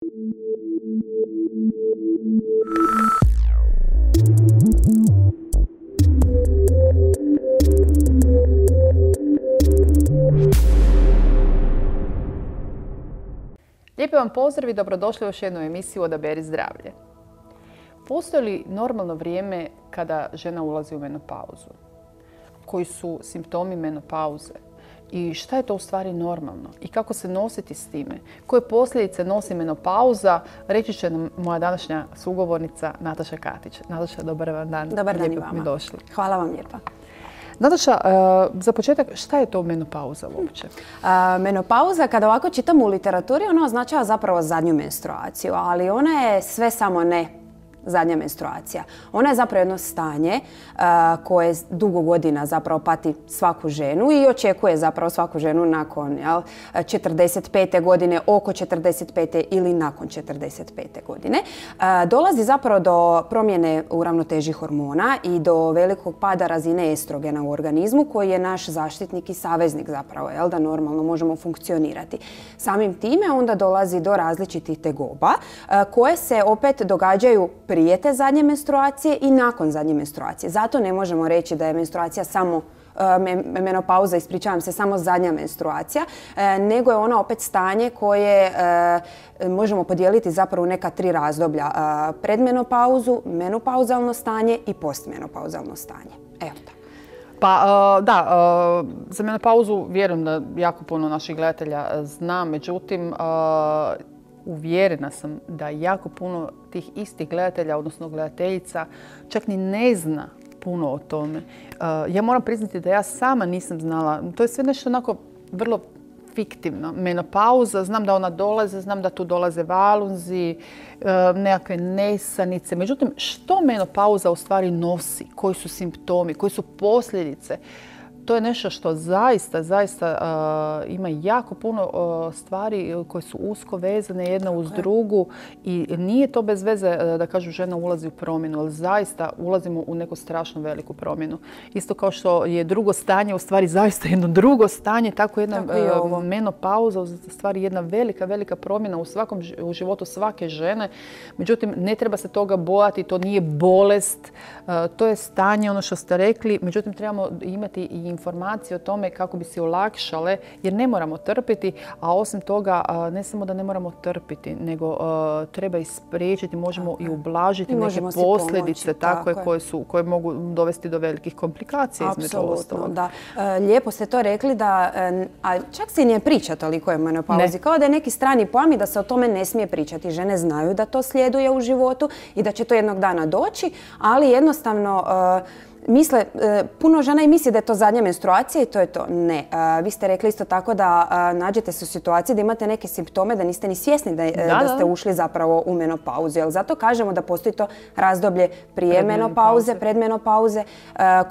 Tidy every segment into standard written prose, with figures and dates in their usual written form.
Lijepi vam pozdrav i dobrodošli u još jednu emisiju Odaberi zdravlje. Postoji li normalno vrijeme kada žena ulazi u menopauzu? Koji su simptomi menopauze? I šta je to u stvari normalno? I kako se nositi s time? Koje posljedice nosi menopauza? Reći će nam moja današnja sugovornica Nataša Katić. Nataša, dobar vam dan. Dobar dan i vama. Mi došli. Hvala vam lijepa. Nataša, za početak, šta je to menopauza uopće? Menopauza, kada ovako čitamo u literaturi, ona označava zapravo zadnju menstruaciju, ali ona je sve samo ne zadnja menstruacija. Ona je zapravo jedno stanje koje dugo godina zapravo pati svaku ženu i očekuje zapravo svaku ženu nakon 45. godine, oko 45. ili nakon 45. godine. Dolazi zapravo do promjene u ravnoteži hormona i do velikog pada razine estrogena u organizmu koji je naš zaštitnik i saveznik zapravo, da normalno možemo funkcionirati. Samim time onda dolazi do različitih tegoba koje se opet događaju prije te zadnje menstruacije i nakon zadnje menstruacije. Zato ne možemo reći da je menstruacija samo menopauza, ispričavam se, samo zadnja menstruacija, nego je ona opet stanje koje možemo podijeliti zapravo u neka 3 razdoblja. Predmenopauzu, menopauzalno stanje i postmenopauzalno stanje. Evo tako. Pa da, za menopauzu vjerujem da jako puno naših gledatelja zna, međutim uvjerena sam da jako puno tih istih gledatelja, odnosno gledateljica, čak ni ne zna puno o tome. Ja moram priznati da ja sama nisam znala. To je sve nešto onako vrlo fiktivno. Menopauza, znam da ona dolaze, znam da tu dolaze valunzi, nekakve nesanice. Međutim, što menopauza u stvari nosi? Koji su simptomi? Koji su posljedice? To je nešto što zaista ima jako puno stvari koje su usko vezane jedna uz drugu i nije to bez veze da kažu žena ulazi u promjenu, ali zaista ulazimo u neku strašno veliku promjenu. Isto kao što je drugo stanje u stvari zaista jedno drugo stanje, tako jedna menopauza u stvari jedna velika promjena u životu svake žene. Međutim, ne treba se toga bojati, to nije bolest, to je stanje, ono što ste rekli. Međutim, trebamo imati i informacije o tome kako bi se olakšale, jer ne moramo trpiti, a osim toga ne samo da ne moramo trpiti, nego treba i spriječiti, možemo i ublažiti neke posljedice koje mogu dovesti do velikih komplikacija između ostalog. Da. Lijepo ste to rekli, a čak se i ne priča toliko o menopauzi, kao da je neki strani pojam i da se o tome ne smije pričati. Žene znaju da to slijeduje u životu i da će to jednog dana doći, ali jednostavno misle, puno žena i misli da je to zadnja menstruacija i to je to. Ne. Vi ste rekli isto tako da nađete se u situaciji da imate neke simptome, da niste ni svjesni da ste ušli zapravo u menopauzu. Jer zato kažemo da postoji to razdoblje prije menopauze, predmenopauze,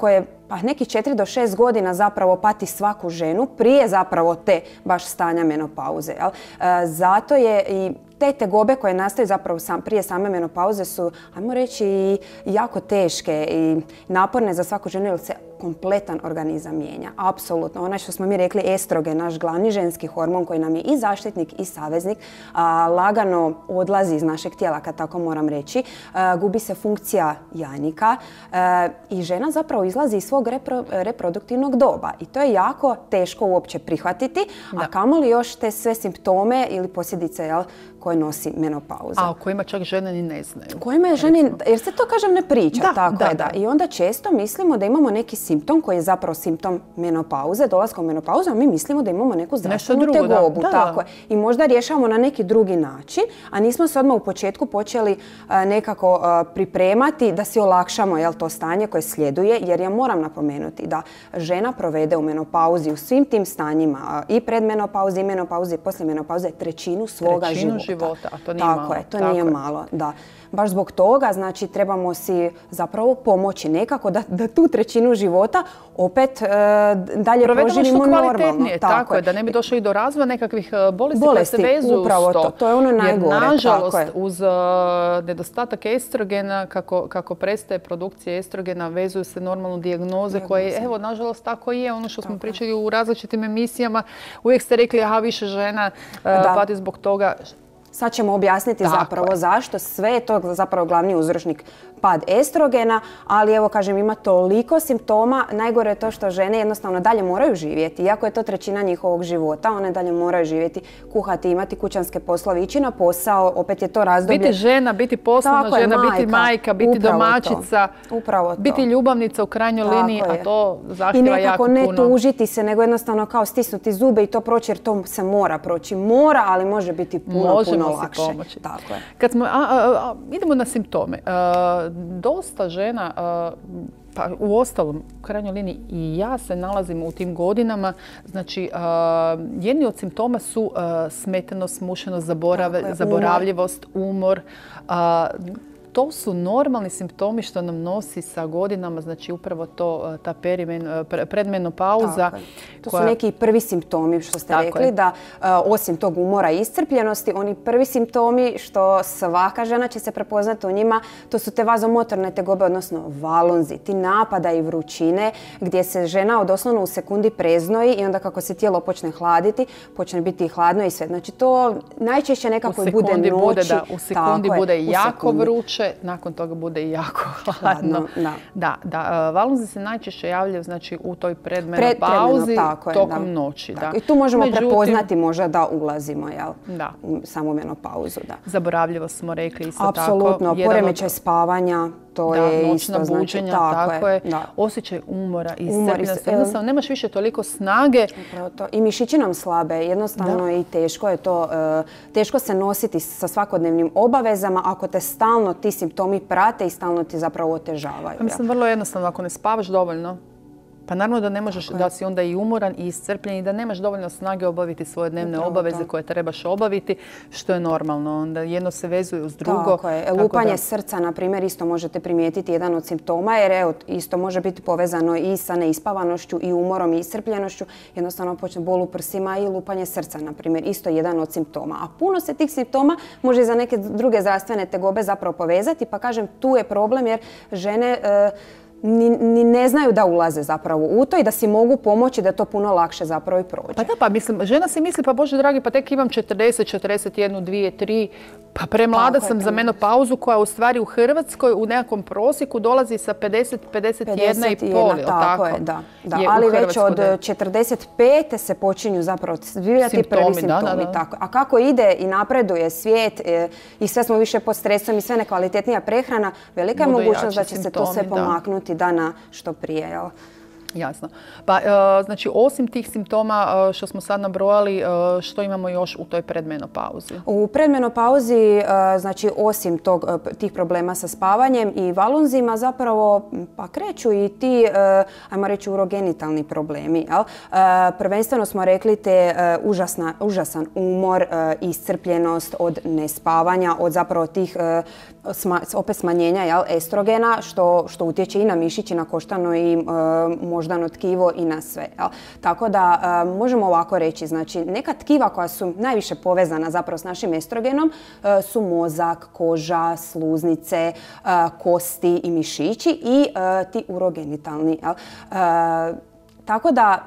koje nekih 4 do 6 godina zapravo pati svaku ženu prije zapravo te baš stanja menopauze. Zato je i te tegobe koje nastaju zapravo prije same menopauze su, ajmo reći, i jako teške i naporne za svaku ženu jer se kompletan organizam mijenja. Apsolutno. Onaj što smo mi rekli estrogen, naš glavni ženski hormon koji nam je i zaštitnik i saveznik, lagano odlazi iz našeg tijela, kad tako moram reći. Gubi se funkcija jajnika i žena zapravo izlazi iz svog reproduktivnog doba. I to je jako teško uopće prihvatiti, a kamoli još te sve simptome ili posljedice koje nosi menopauza. A o kojima čak žene ni ne znaju. Kojima žene, jer se to, kažem, ne priča. Da. I onda često mislimo da imamo neki simptom koji je zapravo simptom menopauze, dolaska u menopauzu, a mi mislimo da imamo neku zdravstvenu tegobu. Tako je. I možda rješavamo na neki drugi način, a nismo se odmah u početku počeli nekako pripremati da si olakšamo to stanje koje slijeduje, jer ja moram napomenuti da žena provede u menopauzi u svim tim stanjima, i predmenopauzi, i menopauzi, i poslije menopauze, trećinu svoga života. A to nije malo. Tako je, to nije malo, da. Baš zbog toga, znači, trebamo si zapravo pomoći nekako da tu trećinu života opet dalje proživimo normalno. Tako je, da ne bi došlo i do razvoja nekakvih bolesti koje se vezuju uz to. To je ono najgore. Jer nažalost, uz nedostatak estrogena, kako prestaje produkcija estrogena, vezuju se normalno dijagnoze koje, evo, nažalost, tako je. Ono što smo pričali u različitim emisijama, uvijek ste rekli, aha, više žena pati zbog toga. Sad ćemo objasniti zapravo zašto. Sve je to zapravo glavni uzročnik pad estrogena, ali evo kažem ima toliko simptoma. Najgore je to što žene jednostavno dalje moraju živjeti. Iako je to trećina njihovog života, one dalje moraju živjeti, kuhati, imati kućanske poslove, ići na posao, opet je to razdoblje. Biti žena, biti poslovna žena, biti majka, biti domaćica, biti ljubavnica u krajnjoj liniji, a to zahtjeva jako puno. I nekako ne tužiti se, nego jednostavno kao stisnuti zube i to proći jer to se mora proći. Mora, ali može biti puno lakše. Tako je. Kad smo, idemo na simptome. Dosta žena, pa u ostalom, u krajnjoj liniji i ja se nalazim u tim godinama, znači jedni od simptoma su smetenost, smušenost, zaboravljivost, umor. To su normalni simptomi što nam nosi sa godinama, znači upravo to, ta predmenopauza. To su neki prvi simptomi što ste rekli, da osim tog umora i iscrpljenosti, oni prvi simptomi što svaka žena će se prepoznati u njima, to su te vazomotorne tegobe, odnosno valunzi, ti napada i vrućine gdje se žena doslovno u sekundi preznoji i onda kako se tijelo počne hladiti, počne biti hladno i sve. Znači to najčešće nekako bude noći. U sekundi bude jako vruće. Nakon toga bude i jako hladno. Da, valunzi se najčešće javljaju znači, u toj predmenopauzi tokom noći. I tu možemo prepoznati možda da ulazimo u samu menopauzu. Zaboravljivost smo rekli isto tako. Apsolutno, poremećaj spavanja. To je noćna buđenja, tako je. Osjećaj umora i iscrpljenosti. Jednostavno, nemaš više toliko snage. I mišići nam slabe. Jednostavno i teško je to. Teško se nositi sa svakodnevnim obavezama ako te stalno ti simptomi prate i stalno ti zapravo otežavaju. Mislim, vrlo jednostavno. Ako ne spavaš dovoljno, pa naravno da ne možeš, da si onda i umoran i iscrpljen i da nemaš dovoljno snage obaviti svoje dnevne obaveze koje trebaš obaviti, što je normalno. Onda jedno se vezuje uz drugo. Tako je. Lupanje srca, na primjer, isto možete primijetiti jedan od simptoma, jer evo, isto može biti povezano i sa neispavanošću i umorom i iscrpljenošću. Jednostavno počne bol u prsima i lupanje srca, na primjer, isto jedan od simptoma. A puno se tih simptoma može i za neke druge zdravstvene tegobe zapravo povezati, pa kažem, tu je problem jer žene ni ne znaju da ulaze zapravo u to i da si mogu pomoći da to puno lakše zapravo i prođe. Pa da, pa mislim, žena si misli, pa Bože dragi, pa tek imam 40, 41, 2, 3, pa premlada sam za menopauzu koja u stvari u Hrvatskoj u nekakvom prosjeku dolazi sa 50, 51,5. Tako je, da. Ali već od 45. se počinju zapravo zvijati prvi simptomi. A kako ide i napreduje svijet i sve smo više pod stresom i sve nekvalitetnija prehrana, velika je mogućnost da će se to sve pomaknuti dana što prije, jel? Jasno. Pa, znači, osim tih simptoma što smo sad nabrojali, što imamo još u toj predmenopauzi? U predmenopauzi, znači, osim tih problema sa spavanjem i valunzima, zapravo pa kreću i ti, ajmo reći, urogenitalni problemi. Prvenstveno smo rekli te užasan umor, iscrpljenost od nespavanja, od zapravo tih opet smanjenja estrogena, što utječe i na mišić, i na koštano i moždano tkivo i na sve. Tako da možemo ovako reći, znači neka tkiva koja su najviše povezana zapravo s našim estrogenom su mozak, koža, sluznice, kosti i mišići i ti urogenitalni. Tako da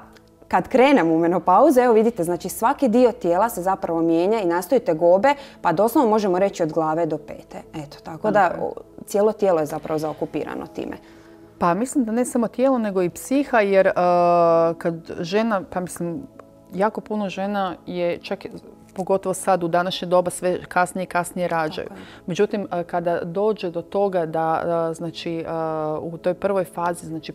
kad krenemo u menopauzu, evo vidite, znači svaki dio tijela se zapravo mijenja i nastaju tegobe, pa doslovno možemo reći od glave do pete. Eto, tako da cijelo tijelo je zapravo zaokupirano time. Pa mislim da ne samo tijelo, nego i psiha, jer kad žena, pa mislim, jako puno žena je čak pogotovo sad u današnje doba sve kasnije i kasnije rađaju. Međutim, kada dođe do toga da znači, u toj prvoj fazi, znači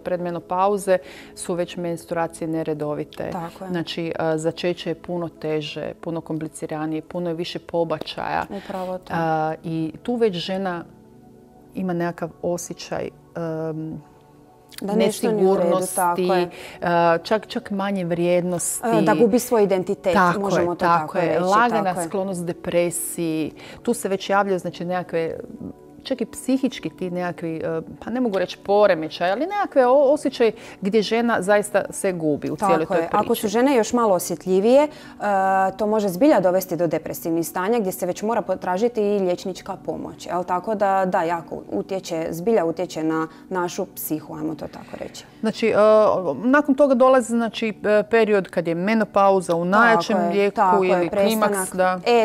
predmenopauze, su već menstruacije neredovite. Znači, začeće je puno teže, puno kompliciranije, puno je više pobačaja. Upravo to. I tu već žena ima nekakav osjećaj nesigurnosti, čak manje vrijednosti. Da gubi svoj identitet, možemo to tako reći. Lagana sklonost depresiji. Tu se već javljaju znači, nekakve čak i psihički ti nekakvi, pa ne mogu reći poremećaj, ali nekakve osjećaj gdje žena zaista se gubi u cijeloj toj priči. Ako su žene još malo osjetljivije, to može zbilja dovesti do depresivnih stanja gdje se već mora potražiti i liječnička pomoć. Tako da, jako zbilja utječe na našu psihu, ajmo to tako reći. Znači, nakon toga dolazi period kad je menopauza u najjačem lijeku ili klimaks.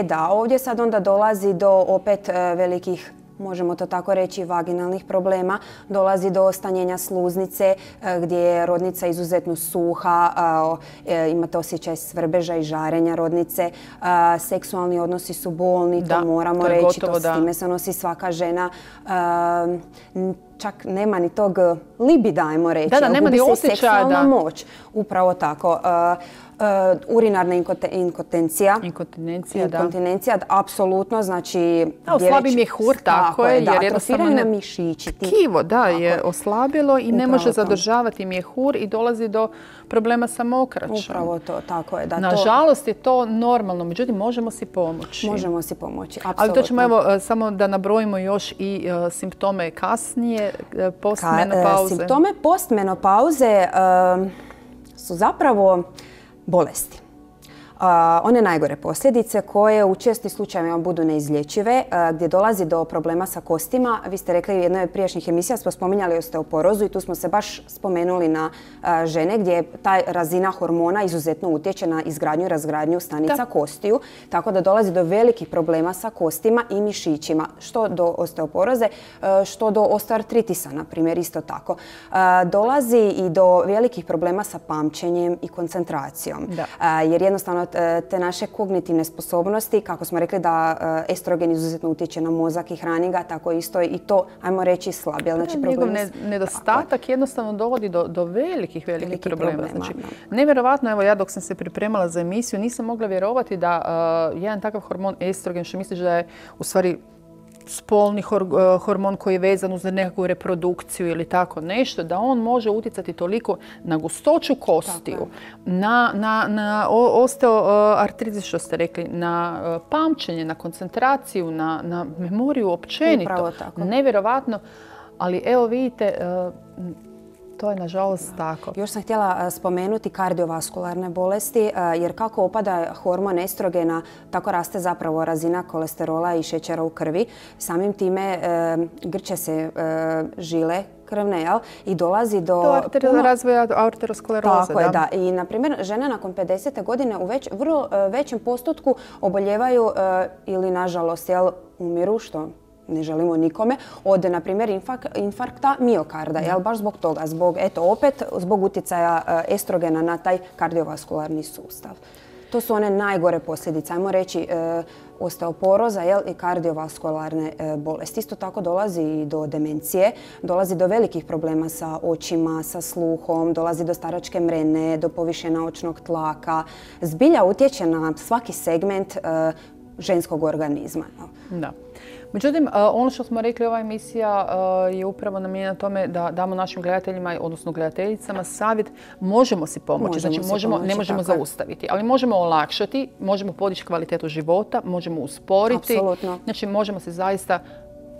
Da, ovdje sad onda dolazi do opet velikih, možemo to tako reći, vaginalnih problema. Dolazi do stanjenja sluznice gdje je rodnica izuzetno suha, imate osjećaj svrbeža i žarenja rodnice. Seksualni odnosi su bolni, to moramo reći, s time se nosi svaka žena. Čak nema ni tog libida, ajmo reći. Nema ni osjećaja. Seksualna moć. Upravo tako. Urinarna inkontinencija, apsolutno, znači... Oslabi mjehur, tako je. Da, atrofiraju nam mišići. Tkivo, je oslabilo i ne može zadržavati mjehur i dolazi do problema sa mokraćom. Upravo to, tako je. Nažalost je to normalno, međutim možemo si pomoći. Možemo si pomoći, apsolutno. Ali to ćemo samo da nabrojimo još i simptome kasnije, postmenopauze. Simptome postmenopauze su zapravo bolesti. One najgore posljedice koje u čestim slučajevima budu neizlječive, gdje dolazi do problema sa kostima. Vi ste rekli u jednoj od prijašnjih emisija smo spominjali osteoporozu i tu smo se baš spomenuli na žene gdje ta razina hormona izuzetno utječe na izgradnju i razgradnju stanica kostiju, tako da dolazi do velikih problema sa kostima i mišićima, što do osteoporoze, što do osteoartritisa, na primjer, isto tako. Dolazi i do velikih problema sa pamćenjem i koncentracijom, jer jednostavno te naše kognitivne sposobnosti, kako smo rekli da estrogen izuzetno utječe na mozak i hrani ga, tako isto i to, ajmo reći, slabi. Znači, njegov nedostatak jednostavno dovodi do velikih problema. Znači, nevjerovatno, evo ja dok sam se pripremala za emisiju nisam mogla vjerovati da jedan takav hormon estrogen, što misliš da je u stvari spolni hormon koji je vezan uz nekakvu reprodukciju ili tako nešto, da on može utjecati toliko na gustoću kostiju, na osteoartritis, što ste rekli, na pamćenje, na koncentraciju, na memoriju općenito. Nevjerovatno, ali evo vidite, to je nažalost tako. Još sam htjela spomenuti kardiovaskularne bolesti, jer kako opada hormon estrogena, tako raste zapravo razina kolesterola i šećera u krvi. Samim time grče se žile krvne, i dolazi do razvoja arterioskleroze. Tako je, da. I, na primjer, žene nakon 50. godine u vrlo većem postotku oboljevaju ili, nažalost, umiru, što ne želimo nikome, od, na primjer, infarkta miokarda, baš zbog toga, zbog utjecaja estrogena na taj kardiovaskularni sustav. To su one najgore posljedice, ajmo reći, osteoporoza i kardiovaskularne bolesti. Isto tako dolazi i do demencije, dolazi do velikih problema sa očima, sa sluhom, dolazi do staračke mrene, do povišenja očnog tlaka. Zbilja utječe na svaki segment ženskog organizma. Da. Međutim, ono što smo rekli, ova emisija je upravo namijenjena tome da damo našim gledateljima, odnosno gledateljicama, savjet. Možemo si pomoći, znači ne možemo zaustaviti, ali možemo olakšati, možemo podići kvalitetu života, možemo usporiti. Apsolutno. Znači možemo se zaista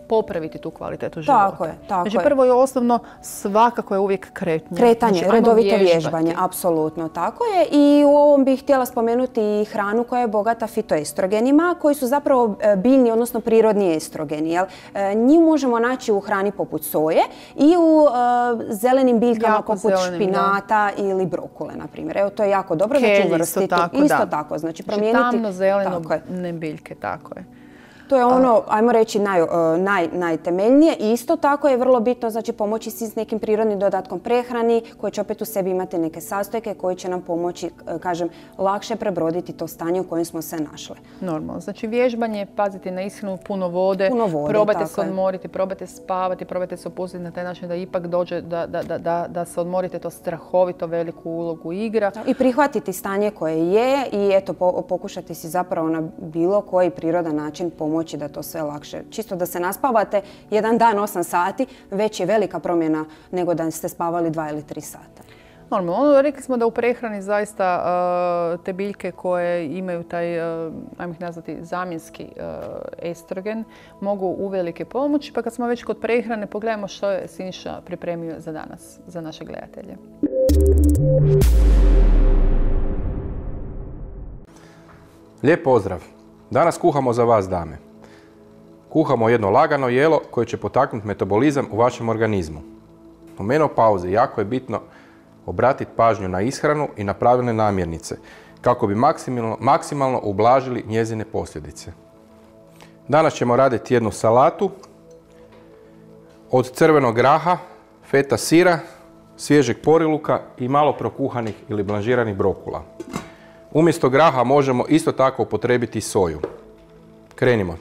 popraviti tu kvalitetu života. Tako je, tako je. Znači prvo i osnovno svakako je uvijek kretanje. Kretanje, redovito vježbanje, apsolutno tako je. I u ovom bih htjela spomenuti i hranu koja je bogata fitoestrogenima, koji su zapravo biljni, odnosno prirodni estrogeni. Njih možemo naći u hrani poput soje i u zelenim biljkama poput špinata ili brokule, na primjer. Evo, to je jako dobro. Kelj, isto tako. Znači promijeniti... Tamno-zeleno biljke, tako je. To je ono, ajmo reći, najtemeljnije. I isto tako je vrlo bitno, znači, pomoći si s nekim prirodnim dodatkom prehrani koji će opet u sebi imati neke sastojke koji će nam pomoći, kažem, lakše prebroditi to stanje u kojem smo se našli. Normalno. Znači, vježbanje, paziti na ishranu, puno vode, probajte se odmoriti, probajte spavati, probajte se opustiti na taj način da ipak dođe da se odmorite, to strahovito veliku ulogu igra. I prihvatiti stanje koje je i eto, pokušati si zapravo na bilo koji prirodan način pomoći da to sve lakše. Čisto da se naspavate jedan dan 8 sati, već je velika promjena nego da ste spavali 2 ili 3 sata. Normalno, rekli smo da u prehrani zaista te biljke koje imaju taj, ajmo ih nazvati, zamjenski estrogen, mogu uvelike pomoći. Pa kad smo već kod prehrane, pogledajmo što je Siniša pripremio za danas, za naše gledatelje. Lijep pozdrav! Danas kuhamo za vas, dame. Kuhamo jedno lagano jelo koje će potaknuti metabolizam u vašem organizmu. U menopauzi jako je bitno obratiti pažnju na ishranu i na pravilne namirnice kako bi maksimalno ublažili njezine posljedice. Danas ćemo raditi jednu salatu od crvenog graha, feta sira, svježeg poriluka i malo prokuhanih ili blanžiranih brokula. Umjesto graha možemo isto tako upotrijebiti soju. Krenimo.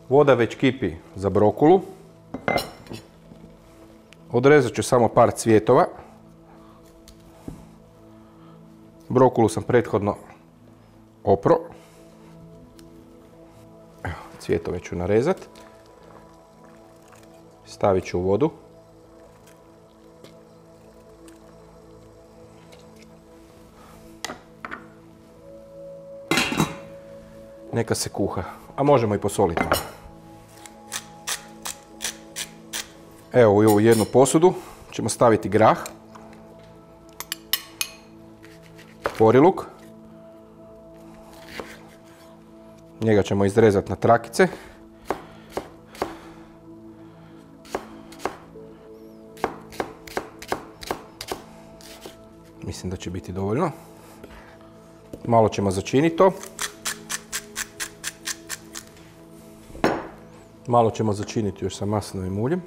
Voda već kipi za brokulu. Odrezat ću samo par cvjetova. Brokulu sam prethodno opro. Evo, cvjetove ću narezat. Stavit ću u vodu. Neka se kuha, a možemo i posoliti malo. Evo, u ovu jednu posudu ćemo staviti grah, poriluk, njega ćemo izrezati na trakice. Mislim da će biti dovoljno. Malo ćemo začiniti to. Malo ćemo začiniti još sa maslinovim uljem.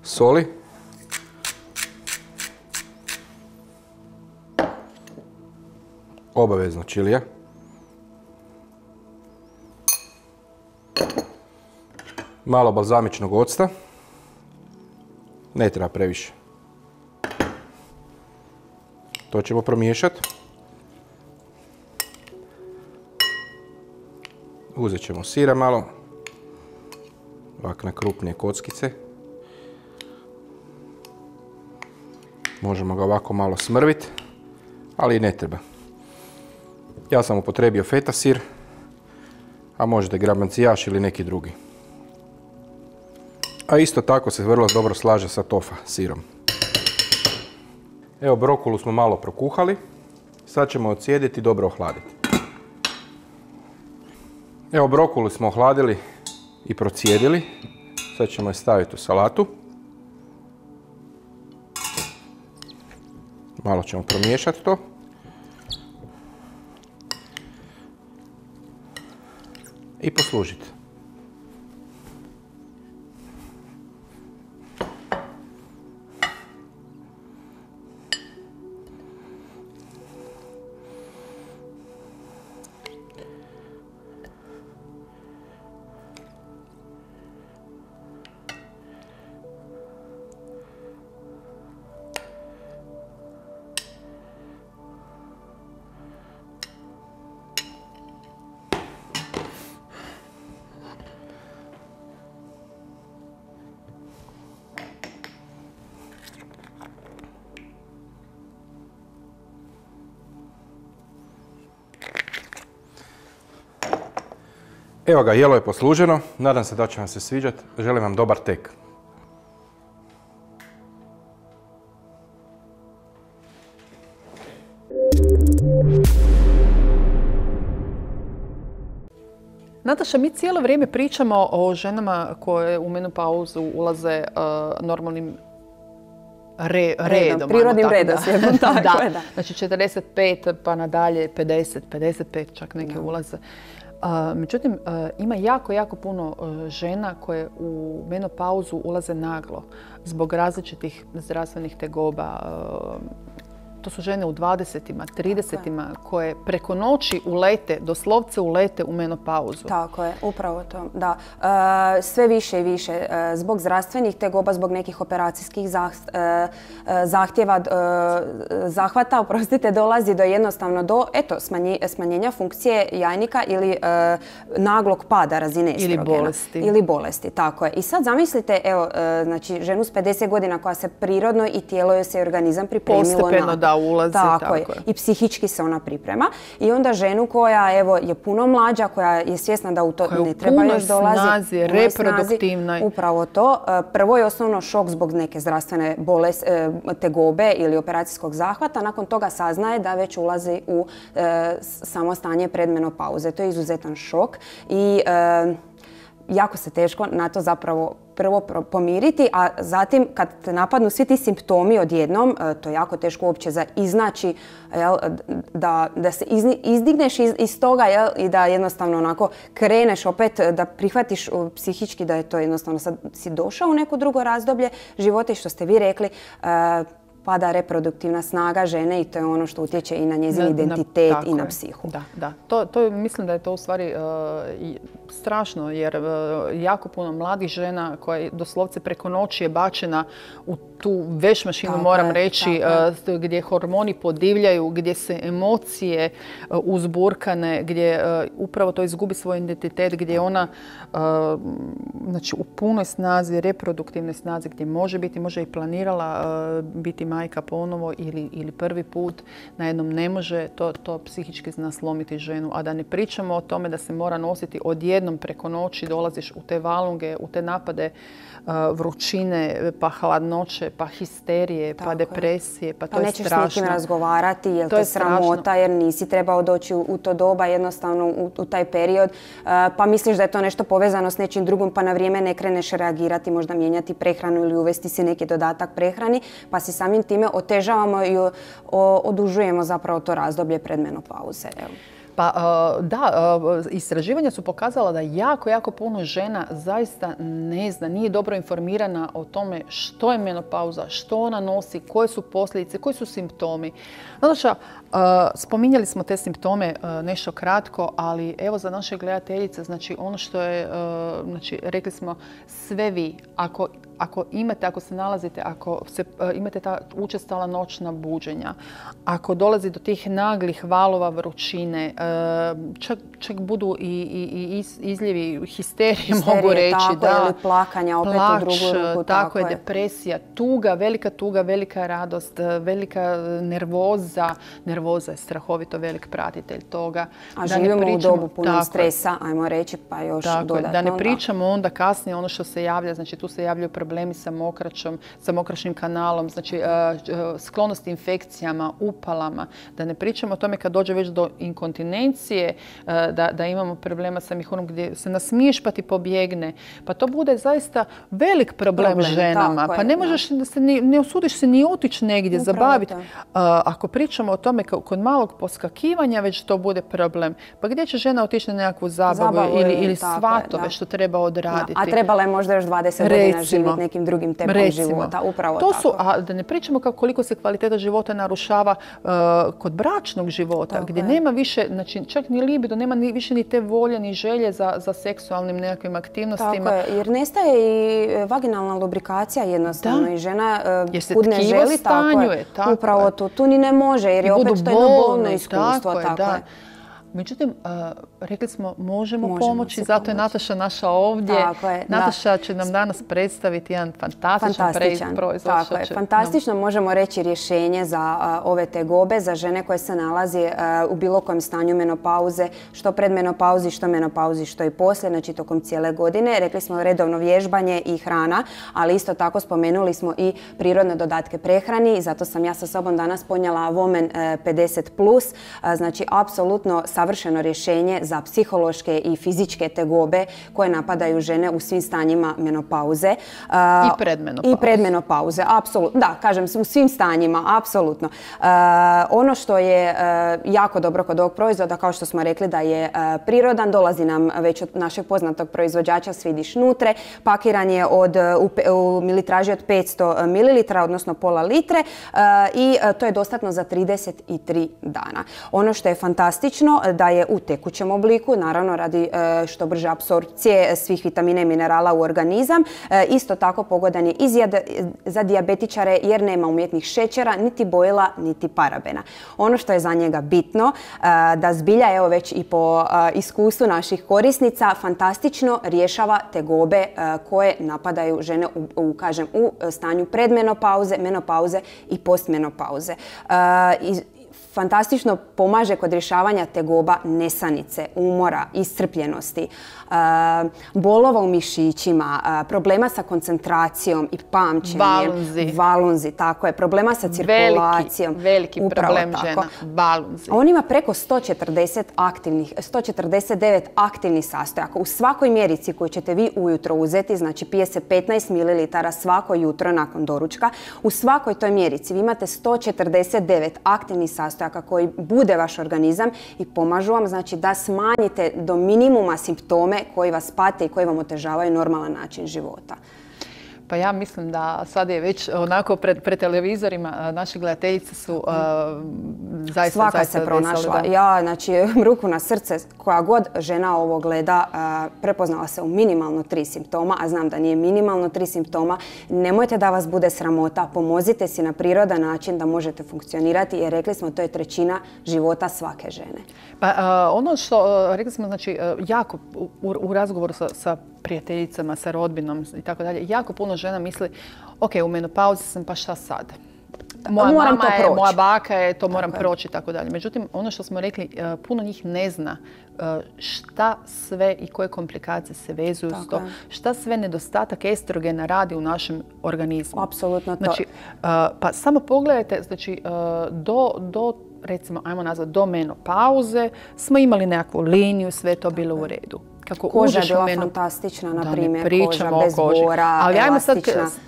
Soli. Obavezno čilija. Malo balzamičnog octa. Ne treba previše. To ćemo promiješati. Uzet ćemo sira malo, ovako na krupnije kockice. Možemo ga ovako malo smrviti, ali i ne treba. Ja sam upotrijebio feta sir, a možete gramacijaš ili neki drugi. A isto tako se vrlo dobro slaže sa tofa sirom. Evo, brokulu smo malo prokuhali, sad ćemo odsjediti i dobro ohladiti. Evo, brokulu smo ohladili i procijedili. Sad ćemo je staviti u salatu. Malo ćemo promiješati to. I poslužiti. Evo ga, jelo je posluženo. Nadam se da će vam se sviđati. Želim vam dobar tek. Nataša, mi cijelo vrijeme pričamo o ženama koje u menopauzu ulaze normalnim redom. Prirodnim redoslijedom. Da. Znači 45 pa nadalje 50, 55 čak neke ulaze. Međutim, ima jako puno žena koje u menopauzu ulaze naglo zbog različitih zdravstvenih tegoba. to su žene u 20-ima, 30-ima koje preko noći ulete, doslovce ulete u menopauzu. Tako je, upravo to, da. Sve više i više zbog zdravstvenih tegoba, zbog nekih operacijskih zahtjeva, zahvata, dolazi do jednostavno do smanjenja funkcije jajnika ili naglog pada razine estrogena. Ili bolesti, tako je. I sad zamislite, evo, znači ženu s 50 godina koja se prirodno i tijelo joj se organizam pripremilo postepeno da ulazi. Tako je. I psihički se ona priprema. I onda ženu koja evo, je puno mlađa, koja je svjesna da u to ne treba još dolazi. Snazi, reproduktivnoj. Upravo to. Prvo je osnovno šok zbog neke zdravstvene tegobe ili operacijskog zahvata. Nakon toga saznaje da već ulazi u samo stanje predmenopauze. To je izuzetan šok i jako se teško na to zapravo prvo pomiriti, a zatim kad te napadnu svi ti simptomi odjednom, to je jako teško uopće za iznaći, da se izdigneš iz toga i da jednostavno onako kreneš opet, da prihvatiš psihički da je to jednostavno sad si došao u neko drugo razdoblje života i što ste vi rekli, pada reproduktivna snaga žene i to je ono što utječe i na njezin identitet i na psihu. Da. Mislim da je to u stvari strašno jer jako puno mladih žena koja doslovce preko noći je bačena u tu vešmašinu, moram reći, gdje hormoni podivljaju, gdje se emocije uzburkane, gdje upravo to izgubi svoj identitet, gdje ona znači, u punoj snazi, reproduktivnoj snazi, gdje može i planirala biti majka ponovo ili prvi put, najednom ne može, to psihički zna slomiti ženu. A da ne pričamo o tome da se mora nositi odjednom preko noći, dolaziš u te valunge, u te napade vrućine, pa hladnoće, pa histerije, pa depresije, pa to je strašno. Nećeš s nikim razgovarati, jer to je sramota, jer nisi trebao doći u to doba, jednostavno u taj period, pa misliš da je to nešto povezano s nečim drugim, pa na vrijeme ne kreneš reagirati, možda mijenjati prehranu ili uvesti si neki dodatak prehrani, pa si samim time otežavamo i odužujemo zapravo to razdoblje predmenopauze. Pa da, istraživanja su pokazala da jako puno žena zaista ne zna, nije dobro informirana o tome što je menopauza, što ona nosi, koje su posljedice, koji su simptomi. Nataša, spominjali smo te simptome nešto kratko, ali evo za naše gledateljice, znači ono što je, znači rekli smo sve vi, ako se nalazite, ako imate ta učestala noćna buđenja, ako dolazi do tih naglih valova vrućine, čak budu i izljevi histerije, mogu reći. Ili plakanja opet u drugu ruku. Tako je, depresija, tuga, velika radost, velika nervoza. Nervoza je strahovito velik pratitelj toga. A živimo u dobu puno stresa, ajmo reći, pa još dodatno. Da ne pričamo onda kasnije ono što se javlja, znači tu se javljaju problemi sa mokraćnim kanalom, znači sklonost infekcijama, upalama. Da ne pričamo o tome kad dođe već do inkontinencije, da imamo problema sa mihurom gdje se nasmiješ pa ti pobjegne. Pa to bude zaista velik problem ženama. Pa ne možeš, ne usudiš se ni otići negdje zabaviti. Ako pričamo o tome kod malog poskakivanja već to bude problem. Pa gdje će žena otići na nekakvu zabavu ili svatove što treba odraditi? A trebala je možda još 20 godina živjeti nekim drugim tempom života. Upravo tako. A da ne pričamo koliko se kvaliteta života narušava kod bračnog života, gdje nema više, znači čak ni libido, nema više ni te volje, ni želje za seksualnim nekakvim aktivnostima. Tako je, jer nestaje i vaginalna lubrikacija jednostavno i žena kud ne želi, tako je. Upravo tu ni ne može, jer je opet to jedno bolno iskustvo. Tako je. Međutim, rekli smo možemo pomoći, zato je Nataša naša ovdje. Nataša će nam danas predstaviti jedan fantastičan proizvod. Tako je, fantastično možemo reći rješenje za ove tegobe, za žene koje se nalazi u bilo kojem stanju menopauze, što pred menopauzi, što menopauzi, što i poslije, znači tokom cijele godine. Rekli smo redovno vježbanje i hrana, ali isto tako spomenuli smo i prirodne dodatke prehrani i zato sam ja sa sobom danas ponijela Women 50+, znači apsolutno savršeno savršeno rješenje za psihološke i fizičke tegobe koje napadaju žene u svim stanjima menopauze. I predmenopauze. I predmenopauze, apsolutno. Da, kažem, u svim stanjima, apsolutno. Ono što je jako dobro kod ovog proizvoda, kao što smo rekli da je prirodan, dolazi nam već od našeg poznatog proizvođača Swedish Nutre, pakiran je u militraži od 500 ml, odnosno pola litre i to je dostatno za 33 dana. Ono što je fantastično da je u tekućem obliku, naravno radi što brže apsorpcije svih vitamina i minerala u organizam. Isto tako pogodan je i za dijabetičare jer nema umjetnih šećera, niti bojila, niti parabena. Ono što je za njega bitno, da zbilja, evo već i po iskustvu naših korisnica, fantastično rješava tegobe koje napadaju žene u stanju predmenopauze, menopauze i postmenopauze. Fantastično pomaže kod rješavanja tegoba nesanice, umora, iscrpljenosti, bolova u mišićima, problema sa koncentracijom i pamćenjem. Valunzi, tako je. Problema sa cirkulacijom. Veliki problem žena. Valunzi. On ima preko 149 aktivnih sastojaka. U svakoj mjerici koju ćete vi ujutro uzeti, znači pije se 15 ml svako jutro nakon doručka, u svakoj toj mjerici vi imate 149 aktivnih sastojaka koji bude vaš organizam i pomažu vam, znači, da smanjite do minimuma simptome koji vas pate i koji vam otežavaju normalan način života. Pa ja mislim da sad je već onako pred televizorima naše gledateljice su zaista... Svaka se pronašla. Ja, znači, ruku na srce, koja god žena ovo gleda, prepoznala se u minimalno 3 simptoma, a znam da nije minimalno 3 simptoma. Nemojte da vas bude sramota, pomozite si na prirodan način da možete funkcionirati, jer rekli smo to je trećina života svake žene. Pa ono što rekli smo, znači, jako u razgovoru sa prijateljicama, sa rodbinom i tako dalje, jako puno žena misli, ok, u menopauzi sam, pa šta sad? Moja mama je, moja baka je, to moram proći i tako dalje. Međutim, ono što smo rekli, puno njih ne zna šta sve i koje komplikacije se vezuju s to, šta sve nedostatak estrogena radi u našem organizmu. Apsolutno to. Znači, pa samo pogledajte, znači, recimo, ajmo nazvati, do menopauze smo imali nekakvu liniju, sve to bilo u redu. Koža je bila fantastična, na primjer, koža bez bora, ali ajmo sad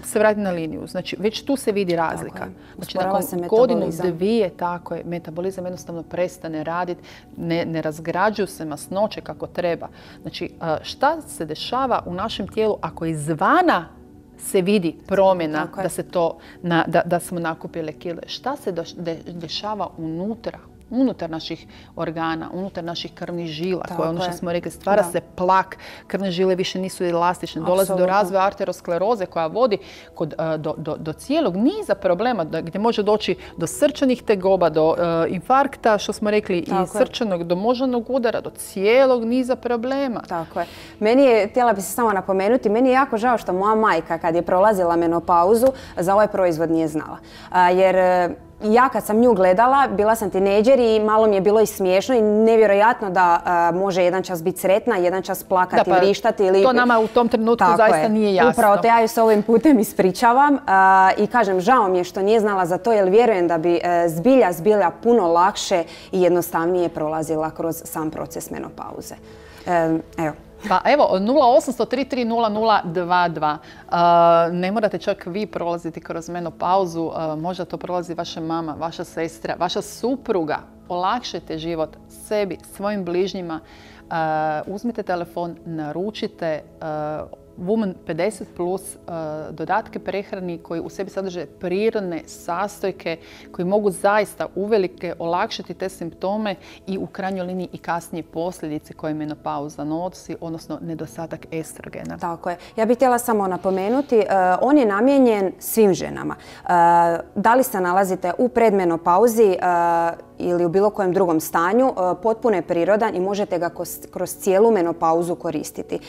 se vratiti na liniju. Znači, već tu se vidi razlika. Znači, nakon godinu, dvije, tako je, metabolizam jednostavno prestane raditi, ne razgrađuju se masnoće kako treba. Znači, šta se dešava u našem tijelu ako izvana se vidi promjena da smo nakupili kile? Šta se dešava unutar naših organa, unutar naših krvnih žila, koje ono što smo rekli, stvara se plak, krvne žile više nisu elastične, dolazi do razvoja arterioskleroze koja vodi do cijelog niza problema gdje može doći do srčanih tegoba, do infarkta, što smo rekli, i srčanog, do moždanog udara, do cijelog niza problema. Tako je. Meni je, htjela bi se samo napomenuti, meni je jako žao što moja majka kad je prolazila menopauzu za ovaj proizvod nije znala. Jer ja kad sam nju gledala, bila sam tinejdžer i malo mi je bilo i smiješno i nevjerojatno da može jedan čas biti sretna, jedan čas plakati, vrištati. To nama u tom trenutku zaista nije jasno. Upravo te ja ju se ovim putem ispričavam i kažem, žao mi je što nije znala za to, jer vjerujem da bi zbilja puno lakše i jednostavnije prolazila kroz sam proces menopauze. Evo. Pa evo, 0800-3300-22. Ne morate čak vi prolaziti kroz menopauzu, možda to prolazi vaša mama, vaša sestra, vaša supruga. Olakšajte život sebi, svojim bližnjima. Uzmite telefon, naručite Woman 50 plus dodatke prehrani koji u sebi sadrže prirodne sastojke koji mogu zaista uvelike olakšati te simptome i u krajnjoj liniji i kasnije posljedice koje menopauza nosi, odnosno nedostatak estrogena. Tako je. Ja bih htjela samo napomenuti, on je namijenjen svim ženama. Da li se nalazite u predmenopauzi ili u bilo kojem drugom stanju, potpuno je prirodan i možete ga kroz cijelu menopauzu koristiti.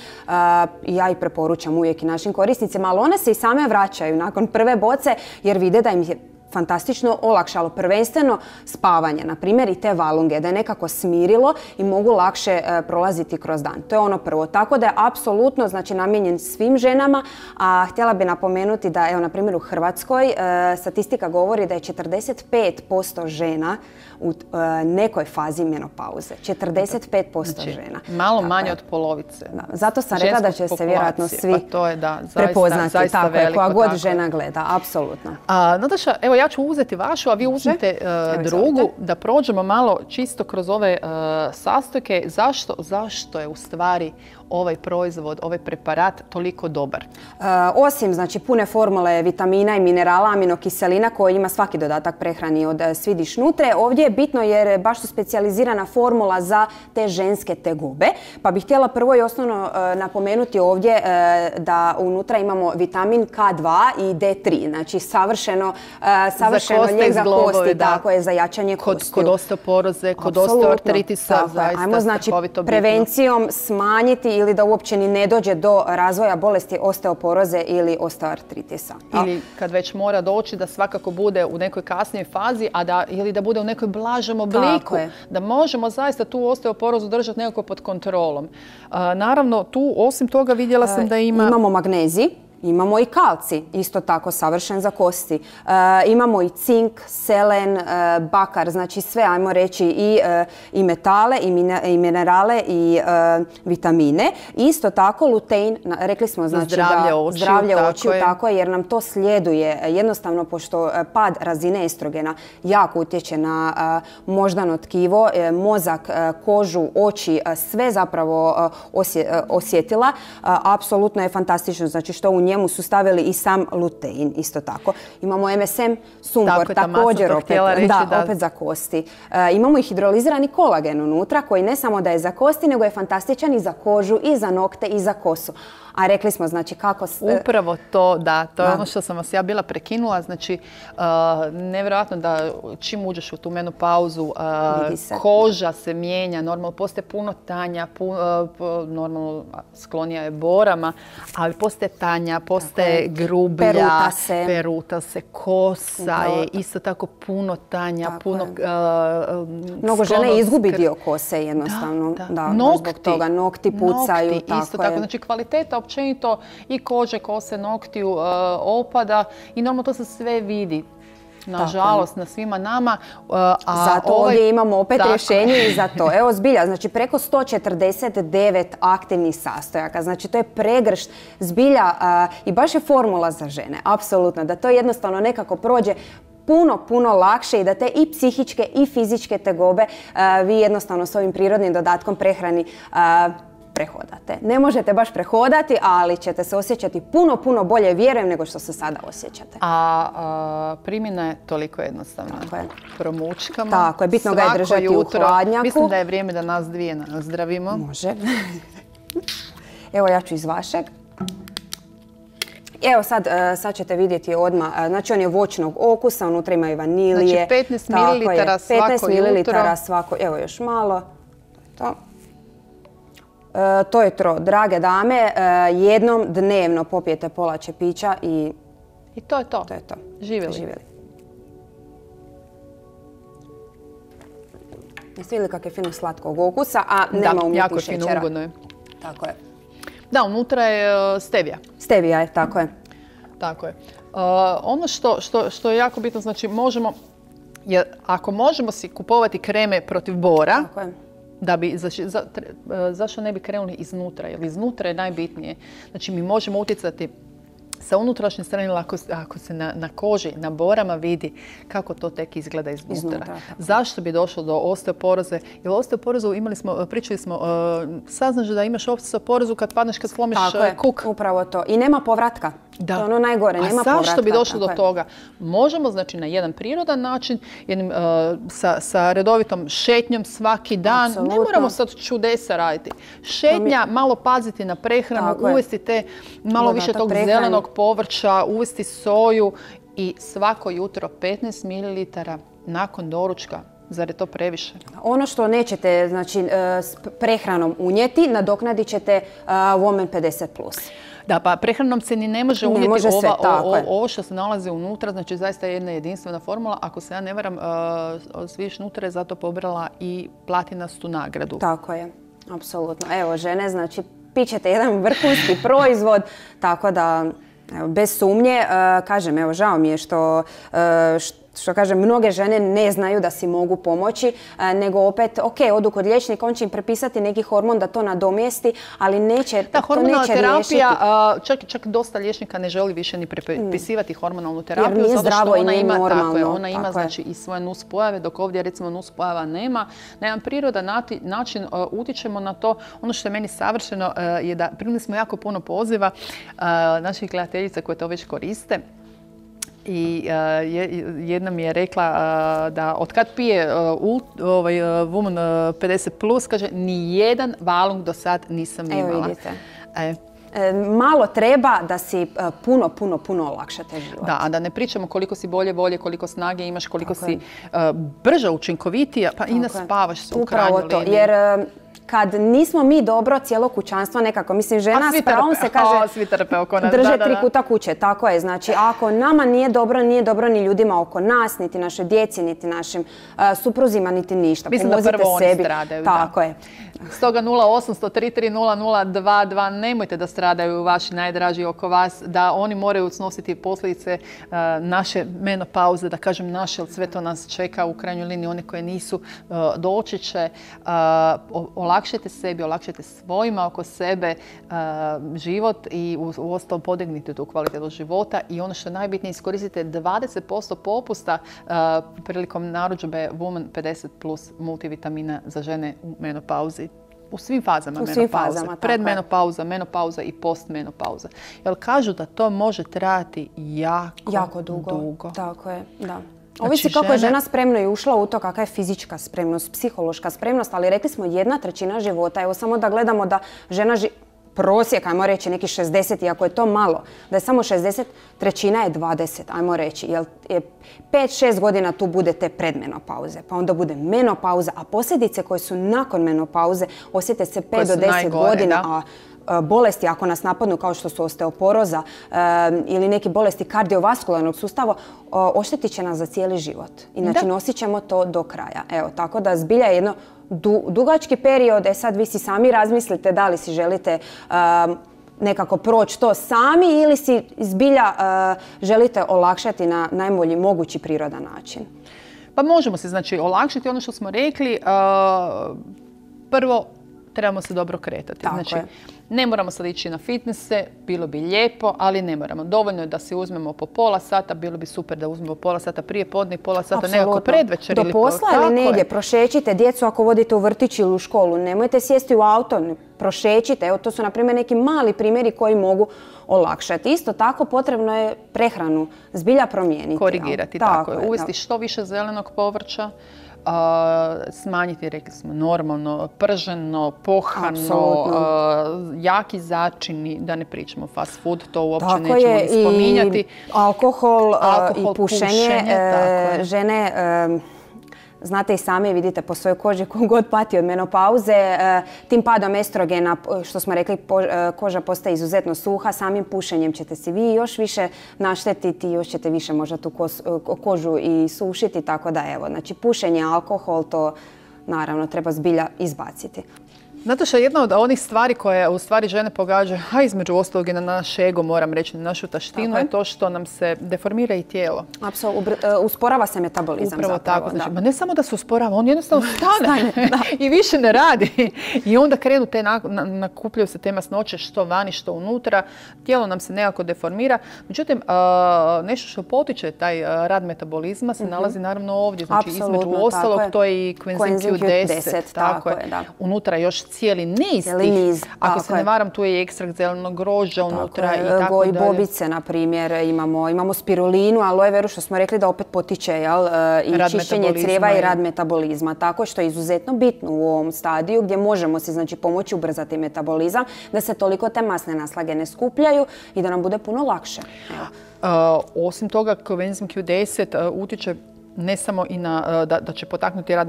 Ja i preporučam uvijek i našim korisnicima, ali one se i same vraćaju nakon prve boce jer vide da im je fantastično olakšalo prvenstveno spavanje, na primjer i te valunge, da je nekako smirilo i mogu lakše prolaziti kroz dan. To je ono prvo. Tako da je apsolutno, znači, namijenjen svim ženama, a htjela bi napomenuti da, evo, na primjer u Hrvatskoj statistika govori da je 45% žena u nekoj fazi menopauze. 45% žena. Malo manje od polovice. Da, zato sam rekla da će se vjerojatno svi prepoznati. Tako je, koja god žena gleda, apsolutno. Nataša, evo ja ću uzeti vašu, a vi uzmite drugu, da prođemo malo čisto kroz ove sastojke. Zašto je u stvari ovaj proizvod, ovaj preparat toliko dobar? Osim, znači, pune formule vitamina i minerala, aminokiselina koji ima svaki dodatak prehrani od Swedish Nutre, ovdje je bitno jer baš su specijalizirana formula za te ženske tegobe. Pa bih htjela prvo i osnovno napomenuti ovdje da unutra imamo vitamin K2 i D3, znači savršeno lijek za kosti, tako je, za jačanje kostiju. Kod osteoporoze, kod osteoartritisa, zaista. Ajmo, znači, prevencijom smanjiti ili da uopće ni ne dođe do razvoja bolesti osteoporoze ili osteoartritisa. Ili kad već mora doći da svakako bude u nekoj kasnijoj fazi, ili da bude u nekoj blažem obliku, da možemo zaista tu osteoporozu držati nekako pod kontrolom. Naravno, tu osim toga vidjela sam da imamo magnezij. Imamo i kalcij, isto tako savršen za kosti. Imamo i cink, selen, bakar, znači sve, ajmo reći, i metale, i minerale, i vitamine. Isto tako lutein, rekli smo, znači, zdravlje očiju, tako je, jer nam to sljeduje. Jednostavno, pošto pad razine estrogena jako utječe na moždano tkivo, mozak, kožu, oči, sve zapravo osjetila. Apsolutno je fantastično, znači što u njemu su stavili i sam lutein, isto tako. Imamo MSM, sumpor, također opet za kosti. Imamo i hidrolizirani kolagen unutra, koji ne samo da je za kosti, nego je fantastičan i za kožu, i za nokte, i za kosu. A rekli smo, znači, kako... Upravo to, da. To je ono što sam vas ja bila prekinula. Znači, nevjerojatno da čim uđeš u tu menopauzu, koža se mijenja, normalno postaje puno tanja, normalno sklonija je borama, ali postaje tanja, postaje grublja, peruta se, kosa je isto tako puno tanja, puno mnogo žene izgubi dio kose jednostavno. Zbog toga nokti pucaju. Isto tako, znači kvaliteta općenito i kože, kose, noktiju opada i normalno to se sve vidi. Nažalost, na svima nama. Zato ovdje imamo opet rješenje i za to. Evo, zbilja, znači preko 149 aktivnih sastojaka. Znači to je pregršt zbilja i baš je formula za žene. Apsolutno. Da to jednostavno nekako prođe puno lakše i da te i psihičke i fizičke tegobe vi jednostavno s ovim prirodnim dodatkom prehrani prehodate. Ne možete baš prehodati, ali ćete se osjećati puno bolje, vjerujem, nego što se sada osjećate. A primjena je toliko jednostavna. Promučkamo. Tako je, bitno ga je držati u hladnjaku. Mislim da je vrijeme da nas dvije nazdravimo. Može. Evo, ja ću iz vašeg. Evo sad ćete vidjeti odmah, znači on je voćnog okusa, unutra ima i vanilije. Znači 15 ml svako jutro. 15 ml svako, evo još malo. To je to, drage dame, jednom dnevno popijete pola čepića i... I to je to. To je to. Živjeli. Jeste vidjeli kak je fino slatkog okusa, a nema umjetnih šećera. Da, jako fino, ugodno je. Tako je. Da, unutra je stevija. Stevija je, tako je. Tako je. Ono što je jako bitno, znači možemo, ako možemo si kupovati kreme protiv bora, tako je. Zašto ne bi krenuli iznutra? Jer iznutra je najbitnije. Znači mi možemo utjecati sa unutrašnje strane, ako se na koži, na borama vidi kako to tek izgleda iznutra. Zašto bi došlo do osteoporoze? Jer osteoporozu pričali smo, saznaš da imaš osteoporozu kad padneš, kad slomiš kuk. Tako je, upravo to. I nema povratka. To je ono najgore, nema povratka. A zašto bi došlo do toga? Možemo, znači, na jedan prirodan način, sa redovitom šetnjom svaki dan. Ne moramo sad čudesa raditi. Šetnja, malo paziti na prehranu, uvesti te malo više tog zelenog povrća, uvesti soju i svako jutro 15 ml nakon doručka. Zar je to previše? Ono što nećete, znači, s prehranom unijeti, nadoknadit ćete Woman 50+. Da, pa prehranom se ni ne može Ne unijeti može sve, tako je. ovo što se nalazi unutra, znači zaista je jedna jedinstvena formula. Ako se ja ne varam, Sviš Nutra je zato pobrala i platinastu nagradu. Tako je, apsolutno. Evo, žene, znači, pićete jedan vrhunski proizvod, tako da, evo, bez sumnje, kažem, evo, žao mi je što kažem, mnoge žene ne znaju da si mogu pomoći, nego opet, ok, odu kod liječnika, on će im prepisati neki hormon da to nadomjesti, ali neće, Da, to neće riješiti. čak dosta liječnika ne želi više ni prepisivati hormonalnu terapiju, Jer nije zato što zdravo i ona nije ima, normalno. tako je, ona ima Tako je. znači i svoje nuspojave, dok ovdje recimo nuspojava nema. Na jedan prirodan način utičemo na to. Ono što je meni savršeno je da primili smo jako puno poziva naših gledateljica koje to već koriste. I jedna mi je rekla da od kad pije Woman 50+, kaže, ni jedan valung do sad nisam imala. Evo vidite. Malo treba da si puno olakšate život. Da, a da ne pričamo koliko si bolje volje, koliko snage imaš, koliko si brža, učinkovitija, pa i naspavaš se u krajnjoj liniji. Upravo to, jer kad nismo mi dobro, cijelo kućanstvo nekako, mislim, žena s pravom se kaže svi trpe oko nas. drže 3 kuta kuće, tako je. Znači, ako nama nije dobro ni ljudima oko nas, niti našoj djeci, niti našim supruzima, niti ništa. Mislim da prvo sebi. Oni stradaju. Tako je. Stoga 0800 330 002 nemojte da stradaju vaši najdraži oko vas, da oni moraju snositi posljedice naše menopauze, da kažem naše, jer sve to nas čeka u krajnjoj liniji, one koje nisu doći će. Olakšajte sebi, olakšajte svojima oko sebe život i uostalom podignite tu kvalitetu života i ono što je najbitnije, iskoristite 20% popusta prilikom narudžbe Woman 50+ multivitamina za žene u menopauzi. U svim fazama menopauze. Predmenopauza, menopauza i postmenopauza. Jer kažu da to može trajati jako dugo. Tako je, da. Ovisi kako je žena spremno i ušla u to, kakva je fizička spremnost, psihološka spremnost, ali rekli smo 1/3 života. Evo samo da gledamo da žena prosjek, ajmo reći, neki 60, iako je to malo, da je samo 60, trećina je 20, ajmo reći. Jer 5-6 godina tu bude te predmenopauze, pa onda bude menopauza, a posljedice koje su nakon menopauze osjete se 5 do 10 godina, a bolesti ako nas napadnu kao što su osteoporoza ili neke bolesti kardiovaskularnog sustava, oštetit će nas za cijeli život. I znači nosit ćemo to do kraja. Evo, tako da zbilja je jedno dugački period, sad vi si sami razmislite da li si želite nekako proći to sami ili si zbilja želite olakšati na najbolji mogući prirodan način. Pa možemo se znači olakšati ono što smo rekli. Prvo, trebamo se dobro kretati. Znači, ne moramo sad ići na fitnesse, bilo bi lijepo, ali ne moramo. Dovoljno je da si uzmemo po pola sata, bilo bi super da uzmemo pola sata prije podne i pola sata nekako predvečer. Do posla ili negdje, prošećite djecu ako vodite u vrtić ili u školu. Nemojte sjesti u auto, prošećite. Evo, to su na primjer neki mali primjeri koji mogu olakšati. Isto tako potrebno je prehranu zbilja promijeniti. Korigirati, tako je. Uvesti što više zelenog povrća. Smanjiti, rekli smo, normalno, prženo, pohano, jaki začini, da ne pričamo fast food, to uopće nećemo ni spominjati. I alkohol i pušenje. Žene, znate i sami, vidite po svojoj koži ko god pati od menopauze, tim padom estrogena, što smo rekli, koža postaje izuzetno suha, samim pušenjem ćete si vi još više naštetiti, još ćete više možda tu kožu i sušiti, tako da evo, znači pušenje, alkohol, to naravno treba zbilja izbaciti. Znate što je jedna od onih stvari koje u stvari žene pogađaju, a između ostalog i na naš ego, moram reći, na našu taštinu, je to što nam se deformira i tijelo. Apsolutno, usporava se metabolizam. Upravo tako. Znači, ma ne samo da se usporava, on jednostavno stane i više ne radi. I onda krenu te, nakupljaju se te masnoće što vani, što unutra. Tijelo nam se nekako deformira. Međutim, nešto što potiče taj rad metabolizma se nalazi naravno ovdje. Znači, između ostalog, to je i coenzim Q10. Tako je. Unutra još cijeli niz tih. Ako se ne varam, tu je i ekstrakt zelenog grožđa unutra i tako dalje. Bobice, na primjer, imamo spirulinu, aloe veru, što smo rekli da opet potiče i čišćenje crijeva i rad metabolizma. Tako što je izuzetno bitno u ovom stadiju gdje možemo si znači pomoći ubrzati metabolizam, da se toliko te masne naslage ne skupljaju i da nam bude puno lakše. Osim toga, coenzim Q10 utiče ne samo i da će potaknuti rad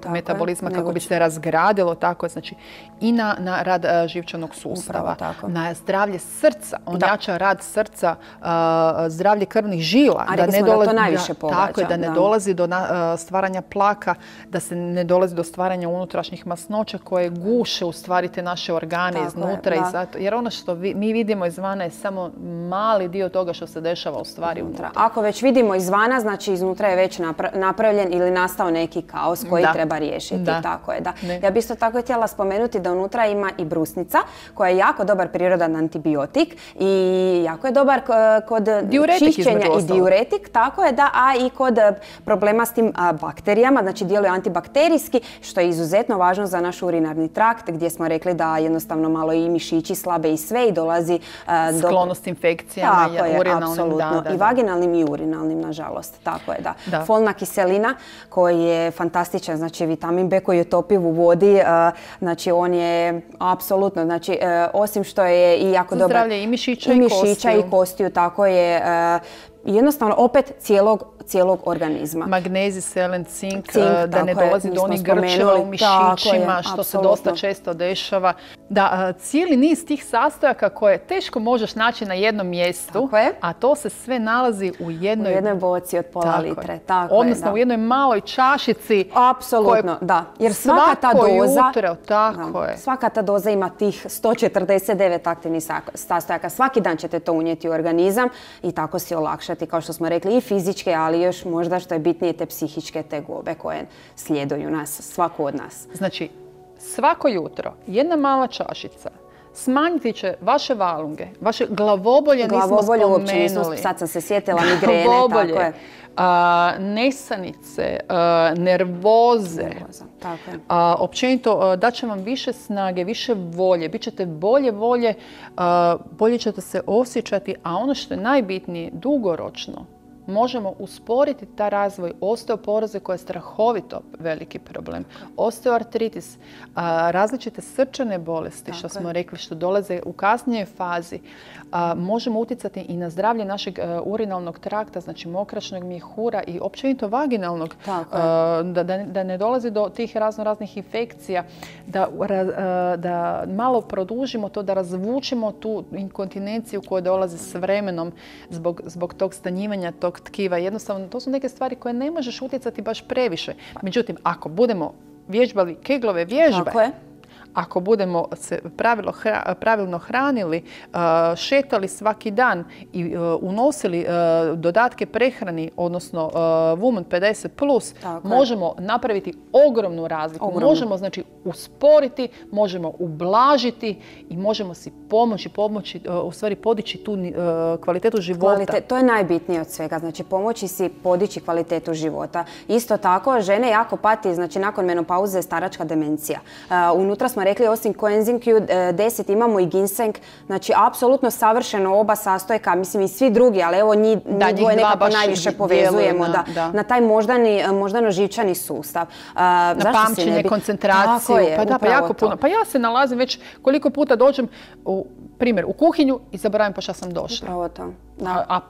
metabolizma kako bi se razgradilo, tako znači i na rad živčanog sustava, na zdravlje srca, on jača rad srca, zdravlje krvnih žila, da ne dolazi do stvaranja plaka, da se ne dolazi do stvaranja unutrašnjih masnoća koje guše u stvari te naše organe iznutra, jer ono što mi vidimo izvana je samo mali dio toga što se dešava u stvari unutra. Ako već vidimo izvana, znači iznutra je već napravljen ili nastao neki kaos koji treba riješiti. Tako je, da. Ja bih isto tako htjela spomenuti da unutra ima i brusnica koja je jako dobar prirodan antibiotik i jako je dobar kod čišćenja i diuretik, tako je, da, a i kod problema s tim bakterijama, znači djeluje antibakterijski, što je izuzetno važno za naš urinarni trakt, gdje smo rekli da jednostavno malo i mišići slabe i sve i dolazi do sklonost infekcijama, urinalnim, i vaginalnim i urinalnim, nažalost. Tako je, da. Folna kiselina koji je fantastičan, znači vitamin B koji je topiv u vodi, znači on je apsolutno, znači osim što je i jako dobar zdravlje i mišića i kostiju, tako je jednostavno opet cijelog organizma. Magnezij, selen, cink, da ne dolazi do onih grčeva u mišićima, što se dosta često dešava. Da, cijeli niz tih sastojaka koje teško možeš naći na jednom mjestu, a to se sve nalazi u jednoj boci od pola litre. Odnosno u jednoj maloj čašici. Apsolutno, da. Jer svaka ta doza ima tih 149 aktivnih sastojaka. Svaki dan ćete to unijeti u organizam i tako si olakšati, kao što smo rekli, i fizičke, ali još možda što je bitnije te psihičke tegobe koje slijeduju nas, svako od nas. Znači, svako jutro jedna mala čašica smanjiti će vaše valunge, vaše glavobolje, nismo spomenuli. Sad sam se sjetila, migrene, tako je. Nesanice, nervoze, općenito daće vam više snage, više volje, bit ćete bolje ćete se osjećati, a ono što je najbitnije, dugoročno, možemo usporiti taj razvoj osteoporoze koja je strahovito veliki problem. Osteoartritis, različite srčane bolesti, što smo rekli, što dolaze u kasnijoj fazi. Možemo utjecati i na zdravlje našeg urinalnog trakta, znači mokračnog mjehura i općenito vaginalnog, da ne dolazi do tih raznih infekcija, da malo produžimo to, da razvučemo tu inkontinenciju koja dolazi s vremenom zbog tog stanjivanja tog tkiva. Jednostavno, to su neke stvari koje ne možeš utjecati baš previše. Međutim, ako budemo vježbali Keglove vježbe, ako budemo se pravilno hranili, šetali svaki dan i unosili dodatke prehrani, odnosno Woman 50+, možemo napraviti ogromnu razliku. Možemo znači usporiti, možemo ublažiti i možemo si pomoći, u stvari podići tu kvalitetu života. To je najbitnije od svega, znači pomoći si podići kvalitetu života. Isto tako, žene jako pati, znači nakon menopauze je staračka demencija. Unutra smo rekli, osim koenzim Q10 imamo i ginseng, znači apsolutno savršeno oba sastojka, mislim i svi drugi, ali evo njih dvoje nekako najviše povezujemo na taj moždano-živčani sustav. Na pamćenje, koncentraciju, pa jako puno. Pa ja se nalazim već koliko puta dođem u kuhinju i zaboravim pa šta sam došla. Upravo to. A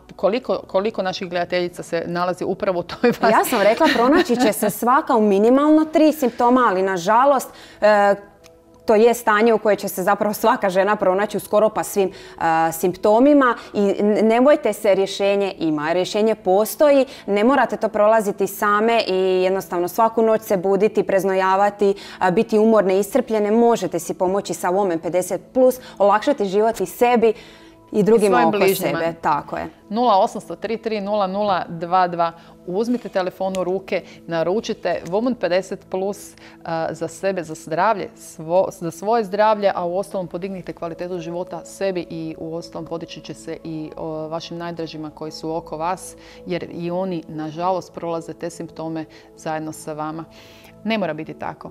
koliko naših gledateljica se nalazi upravo u toj fazi? Ja sam rekla, pronaći će se svaka u minimalno 3 simptoma, ali nažalost to je stanje u koje će se zapravo svaka žena pronaći u skoro pa svim simptomima i ne bojte se, rješenje ima. Rješenje postoji, ne morate to prolaziti same i jednostavno svaku noć se buditi, preznojavati, biti umorne, iscrpljene. Možete si pomoći sa Woman 50+, olakšati život i sebi i drugima oko sebe. Tako je. 0800 33 0022. Uzmite telefon u ruke, naručite Woman 50+ za sebe, za zdravlje, za svoje zdravlje, a u ostalom podignite kvalitetu života sebi i u ostalom podići će se i vašim najdražima koji su oko vas, jer i oni, nažalost, prolaze te simptome zajedno sa vama. Ne mora biti tako.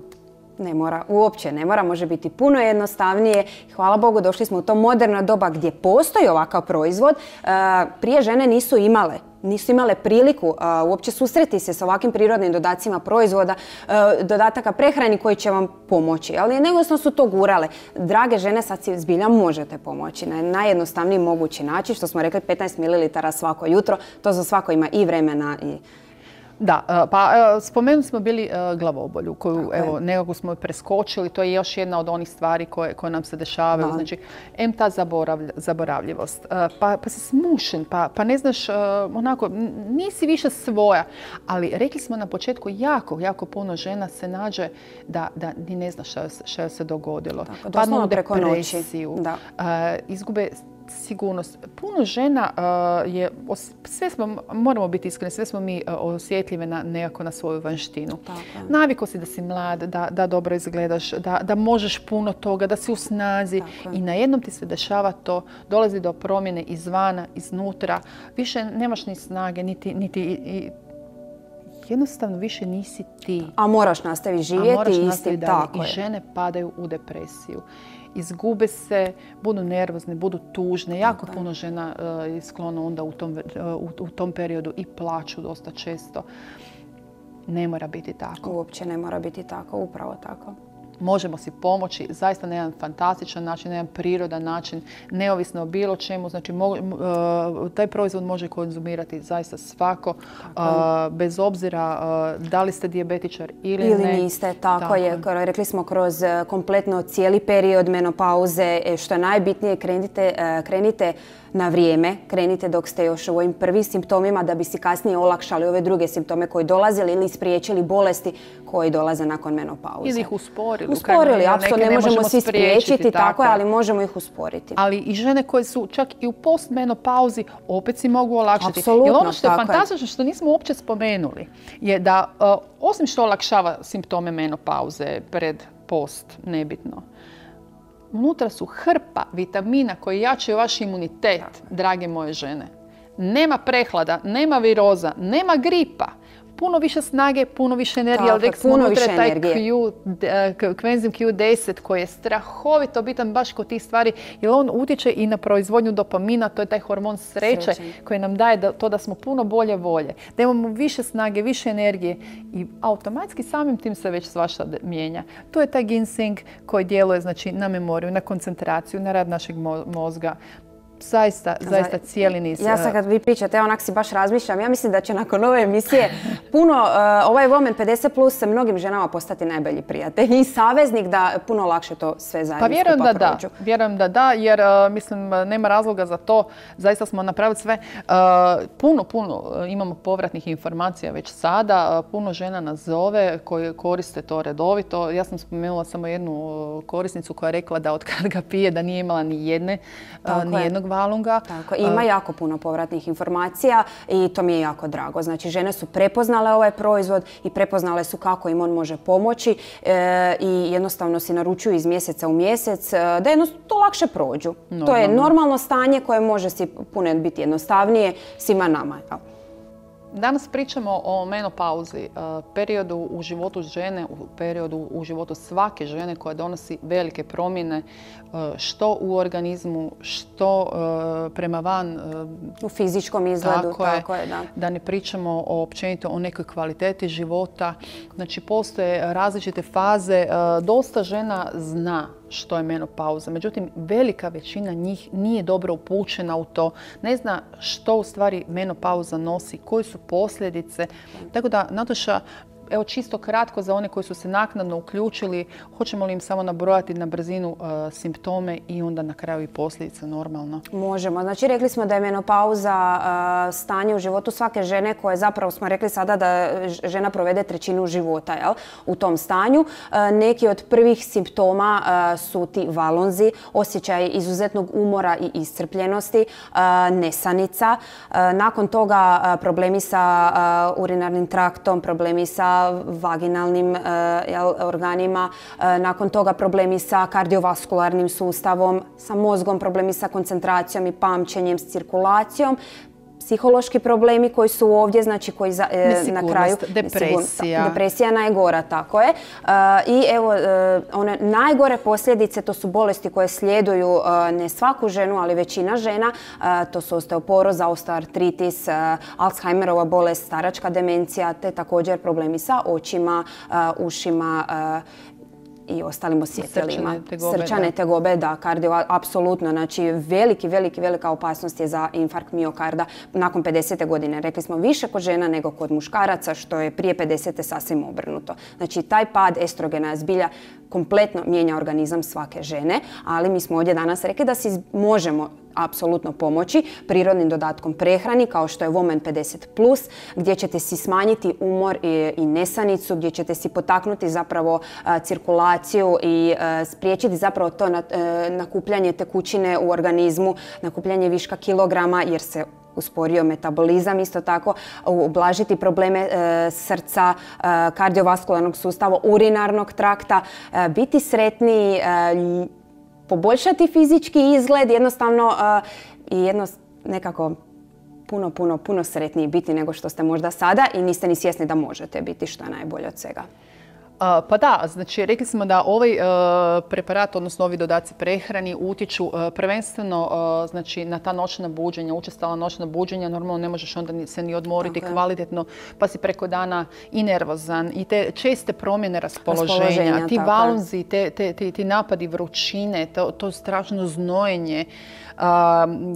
Ne mora, uopće ne mora, može biti puno jednostavnije. Hvala Bogu, došli smo u to moderno doba gdje postoji ovakav proizvod. Prije žene nisu imale priliku uopće susreti se sa ovakvim prirodnim dodacima proizvoda, dodataka prehrani koji će vam pomoći. Ali negostavno su to gurale. Drage žene, sad si zbilja možete pomoći na najjednostavniji mogući način, što smo rekli 15 ml svako jutro. To za svako ima i vremena i... Da, pa spomenuli smo bili glavobolju koju evo, nekako smo preskočili. To je još jedna od onih stvari koje nam se dešavaju. Znači, ta zaboravljivost, pa si smušen, pa ne znaš, onako, nisi više svoja. Ali rekli smo na početku, jako puno žena se nađe da ni ne zna što se dogodilo. Padnu u depresiju, izgube sigurnost. Puno žena je, moramo biti iskreni, sve smo mi osjetljive nekako na svoju vanštinu. Naviko si da si mlad, da dobro izgledaš, da možeš puno toga, da si u snazi i najednom ti se dešava to, dolazi do promjene izvana, iznutra, više nemaš ni snage, niti jednostavno više nisi ti. A moraš nastaviti živjeti istim, tako je. I žene padaju u depresiju. Izgube se, budu nervozne, budu tužne. Jako puno žena je sklono onda u tom periodu i plaću dosta često. Ne mora biti tako. Uopće ne mora biti tako, upravo tako. Možemo si pomoći zaista na jedan fantastičan način, na jedan prirodan način, neovisno o bilo čemu. Znači, taj proizvod može konzumirati zaista svako, bez obzira da li ste dijabetičar ili ne. Ili niste, tako je. Rekli smo kroz kompletno cijeli period menopauze, što je najbitnije, krenite na vrijeme, krenite dok ste još u ovim prvim simptomima da bi si kasnije olakšali ove druge simptome koji dolazili ili spriječili bolesti koji dolaze nakon menopauze. Ili ih usporili. Usporili, apsolutno ne možemo svi spriječiti, tako je, ali možemo ih usporiti. Ali i žene koje su čak i u postmenopauzi opet si mogu olakšati. Apsolutno, jer ono što je fantastično, što nismo uopće spomenuli, je da osim što olakšava simptome menopauze, pred, post, nebitno, unutra su hrpa vitamina koji jačaju vaš imunitet, drage moje žene. Nema prehlada, nema viroza, nema gripa. Puno više snage, puno više energije. Ali puno više energije. Kvenzim Q10 koji je strahovito bitan baš kod tih stvari jer on utječe i na proizvodnju dopamina, to je taj hormon sreće koji nam daje to da smo puno bolje volje. Da imamo više snage, više energije i automatski samim tim se već svašta mijenja. To je taj ginseng koji djeluje znači, na memoriju, na koncentraciju, na rad našeg mozga. Zaista cijeli niz. Ja sad kad vi pričate, onak si baš razmišljam, ja mislim da će nakon ove emisije puno, ovaj Woman 50+ se mnogim ženama postati najbolji prijatelj i saveznik da puno lakše to sve zajedno skupa prođu. Vjerujem da da, jer mislim nema razloga za to. Zaista smo napravili sve. Puno imamo povratnih informacija već sada. Puno žena nas zove koje koriste to redovito. Ja sam spomenula samo jednu korisnicu koja je rekla da od kad ga pije da nije imala ni jednog valunga. Tako, ima jako puno povratnih informacija i to mi je jako drago. Znači, žene su prepoznale ovaj proizvod i prepoznale su kako im on može pomoći i jednostavno si naručuju iz mjeseca u mjesec da to lakše prođu. To je normalno stanje koje može si puno biti jednostavnije svima nama. Danas pričamo o menopauzi, periodu u životu žene, periodu u životu svake žene koja donosi velike promjene što u organizmu, što prema van. U fizičkom izgledu, tako je, da. Da ne pričamo općenito o nekoj kvaliteti života. Znači, postoje različite faze. Dosta žena zna što je menopauza. Međutim, velika većina njih nije dobro upućena u to. Ne zna što u stvari menopauza nosi, koje su posljedice. Tako da, Nataša, evo čisto kratko za one koji su se naknadno uključili, hoćemo li im samo nabrojati na brzinu simptome i onda na kraju i posljedice normalno? Možemo. Znači, rekli smo da je menopauza stanje u životu svake žene koje zapravo smo rekli sada da žena provede trećinu života u tom stanju. Neki od prvih simptoma su ti valonzi, osjećaj izuzetnog umora i iscrpljenosti, nesanica. Nakon toga problemi sa urinarnim traktom, problemi sa vaginalnim organima, nakon toga problemi sa kardiovaskularnim sustavom, sa mozgom, problemi sa koncentracijom i pamćenjem, s cirkulacijom, psihološki problemi koji su ovdje, znači koji na kraju... Depresija. Depresija najgora, tako je. I evo, one najgore posljedice, to su bolesti koje sljeduju ne svaku ženu, ali većina žena. To su osteoporoza, osteoartritis, Alzheimerova bolest, staračka demencija, te također problemi sa očima, ušima, i ostalim osjetilima. Srčane tegobe, da, kardio, apsolutno. Znači, velika opasnost je za infarkt miokarda nakon 50. godine. Rekli smo više kod žena nego kod muškaraca, što je prije 50. sasvim obrnuto. Znači, taj pad estrogena zbilja kompletno mijenja organizam svake žene, ali mi smo ovdje danas rekli da si možemo apsolutno pomoći prirodnim dodatkom prehrani kao što je Woman 50+, gdje ćete si smanjiti umor i nesanicu, gdje ćete si potaknuti zapravo cirkulaciju i spriječiti zapravo to nakupljanje tekućine u organizmu, nakupljanje viška kilograma jer se usporio metabolizam, isto tako ublažiti probleme srca, kardiovaskularnog sustava, urinarnog trakta, biti sretniji, poboljšati fizički izgled, jednostavno i nekako puno sretniji biti nego što ste možda sada i niste ni svjesni da možete biti, što je najbolje od svega. Pa da, znači rekli smo da ovaj preparat, odnosno ovi dodaci prehrani utječu prvenstveno znači, na ta noćna buđenja, učestala noćna buđenja. Normalno ne možeš onda se ni odmoriti kvalitetno, pa si preko dana i nervozan i te česte promjene raspoloženja, ti valunzi, ti napadi vrućine, to strašno znojenje.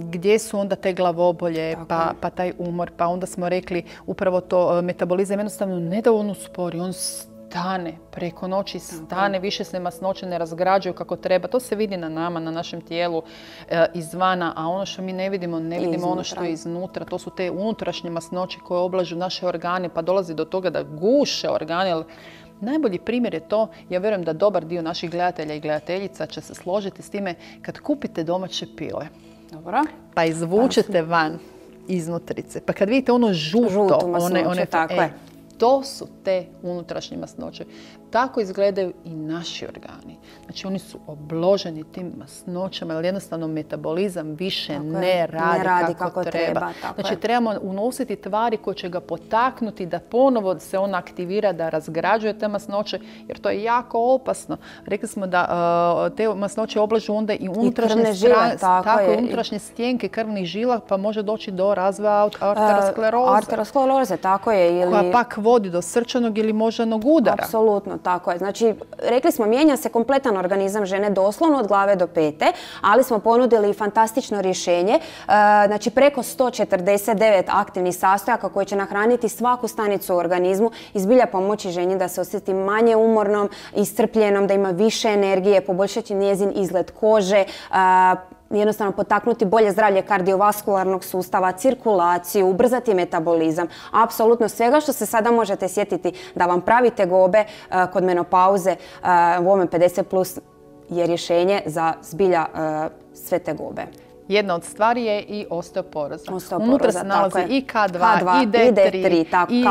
Gdje su onda te glavobolje, pa taj umor, pa onda smo rekli upravo to metabolizam jednostavno ne da on uspori, on stane, preko noći stane, više se masnoće ne razgrađuju kako treba. To se vidi na nama, na našem tijelu izvana, a ono što mi ne vidimo ono što je iznutra. To su te unutrašnje masnoće koje oblažu naše organe, pa dolazi do toga da guše organe. Najbolji primjer je to, ja vjerujem da dobar dio naših gledatelja i gledateljica će se složiti s time kad kupite domaće pile. Dobro. Pa izvučete van iznutrice. Pa kad vidite ono žuto, one tako je. To su te unutrašnje masnoće. Tako izgledaju i naši organi. Znači oni su obloženi tim masnoćama, jer jednostavno metabolizam više ne radi kako treba. Znači trebamo unositi tvari koje će ga potaknuti da ponovo se on aktivira, da razgrađuje te masnoće, jer to je jako opasno. Rekli smo da te masnoće oblažu onda i unutrašnje stjenke krvnih žila, pa može doći do razvoja arterioskleroze. Arterioskleroze, tako je. Koja pak vodi do srčanog ili moždanog udara. Apsolutno, tako je. Znači, rekli smo, mijenja se kompletan organizam žene doslovno od glave do pete, ali smo ponudili fantastično rješenje. Znači, preko 149 aktivnih sastojaka koji će nahraniti svaku stanicu u organizmu i zbilja pomoći ženi da se osjeti manje umornom, iscrpljenom, da ima više energije, poboljšati njezin izgled kože, jednostavno potaknuti bolje zdravlje kardiovaskularnog sustava, cirkulaciju, ubrzati metabolizam. Apsolutno svega što se sada možete sjetiti da vam pravi tegobe kod menopauze, Woman 50+ je rješenje za zbilja sve tegobe. Jedna od stvari je i osteoporoza. Unutra se nalazi i K2, i D3, i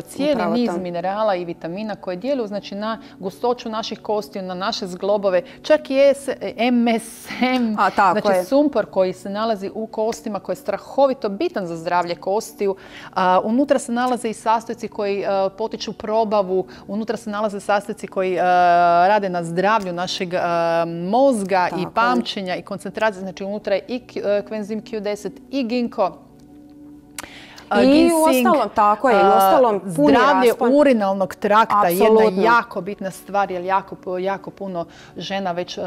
cijeli niz minerala i vitamina koje djeluju znači, na gustoću naših kostiju, na naše zglobove, čak i MSM, znači sumpor koji se nalazi u kostima, koji je strahovito bitan za zdravlje kostiju. Unutra se nalaze i sastojci koji potiču probavu, unutra se nalaze sastojci koji rade na zdravlju našeg mozga i pamćenja i koncentracije. Znači unutra je i koenzim Q10 i ginkgo. I u ostalom, tako je, i u ostalom puni zdravlje raspon urinalnog trakta, jedna jako bitna stvar, jer jako puno žena već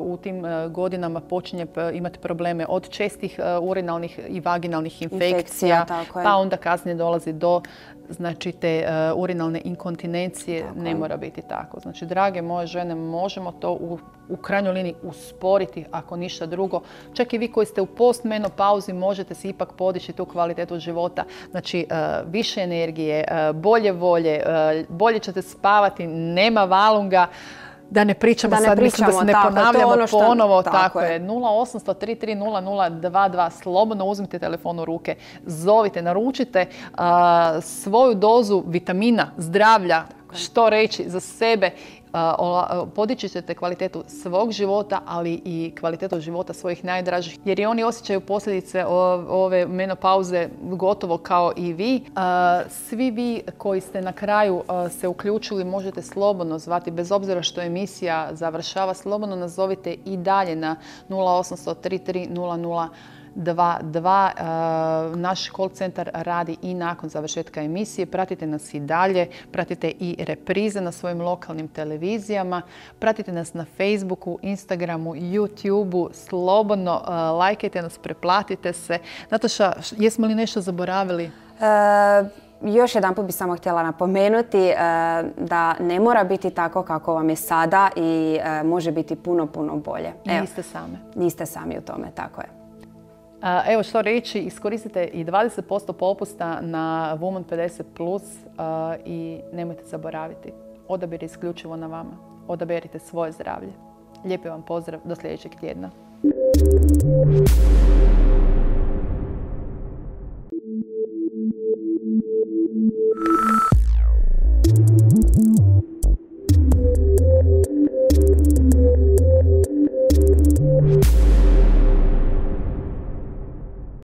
u tim godinama počinje imati probleme od čestih urinalnih i vaginalnih infekcija, pa onda kasnije dolazi do znači te urinalne inkontinencije. Ne mora biti tako. Znači, drage moje žene, možemo to u krajnjoj liniji usporiti, ako ništa drugo. Čak i vi koji ste u postmenopauzi možete si ipak podići tu kvalitetu života. Znači, više energije, bolje volje, bolje ćete spavati, nema valunga. Da ne pričamo sad, mislim da se ne ponavljamo ponovo. Tako je. 0800 33 0022. Slobodno uzmite telefon u ruke, zovite, naručite svoju dozu vitamina, zdravlja, što reći za sebe. Podići ćete kvalitetu svog života, ali i kvalitetu života svojih najdražih, jer i oni osjećaju posljedice ove menopauze gotovo kao i vi. Svi vi koji ste na kraju se uključili možete slobodno zvati, bez obzira što emisija završava, slobodno nazovite i dalje na 0800 33 00 222. Naš call centar radi i nakon završetka emisije. Pratite nas i dalje, pratite i reprize na svojim lokalnim televizijama, pratite nas na Facebooku, Instagramu, YouTubeu, slobodno lajkajte nas, preplatite se. Nataša, jesmo li nešto zaboravili? Još jedanput bih samo htjela napomenuti da ne mora biti tako kako vam je sada i može biti puno, puno bolje. Niste same. Niste sami u tome, tako je. Evo što reći, iskoristite i 20% popusta na Woman 50+, i nemojte zaboraviti. Odabir je isključivo na vama. Odaberite svoje zdravlje. Lijepi vam pozdrav, do sljedećeg tjedna.